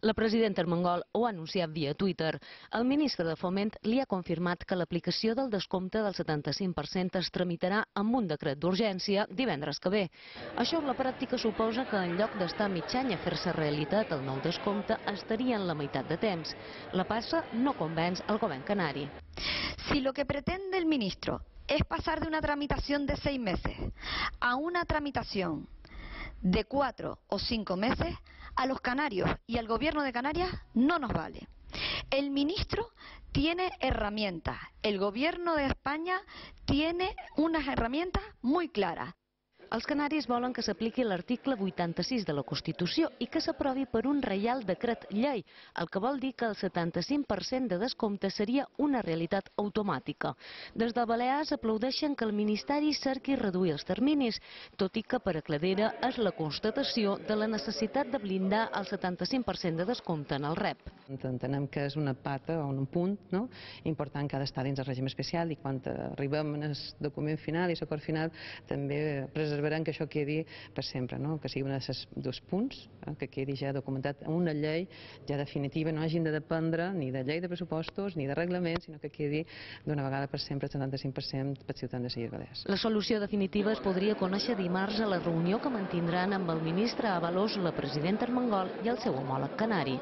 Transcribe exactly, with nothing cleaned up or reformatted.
La presidenta Armengol ho ha anunciat via Twitter. El ministre de Foment li ha confirmat que l'aplicació del descompte del setanta-cinc per cent es tramitarà amb un decret d'urgència divendres que ve. Això en la pràctica suposa que en lloc d'estar mig any a fer-se realitat el nou descompte estaria en la meitat de temps. La passa no convenç el govern canari. Si lo que pretende el ministro es pasar de una tramitación de seis meses a una tramitación de cuatro o cinco meses, a los canarios y al gobierno de Canarias no nos vale. El ministro tiene herramientas, el gobierno de España tiene unas herramientas muy claras. Els canaris volen que s'apliqui l'article vuitanta-sis de la Constitució i que s'aprovi per un reial decret llei, el que vol dir que el setanta-cinc per cent de descompte seria una realitat automàtica. Des de Balears aplaudeixen que el Ministeri cerqui reduir els terminis, tot i que per a Cladera és la constatació de la necessitat de blindar el setanta-cinc per cent de descompte en el R E P. Entenem que és una pata o un punt no? important que ha d'estar dins el règim especial i quan arribem al document final i l'acord final també preservarem que això quedi per sempre, no? Que sigui un dels dos punts, eh? que quedi ja documentat en una llei ja definitiva, no hagin de dependre ni de llei de pressupostos ni de reglament, sinó que quedi d'una vegada per sempre el setanta-cinc per cent per ciutadans de les Illes Balears. La solució definitiva es podria conèixer dimarts a la reunió que mantindran amb el ministre Ábalos, la presidenta Armengol i el seu homòleg canari.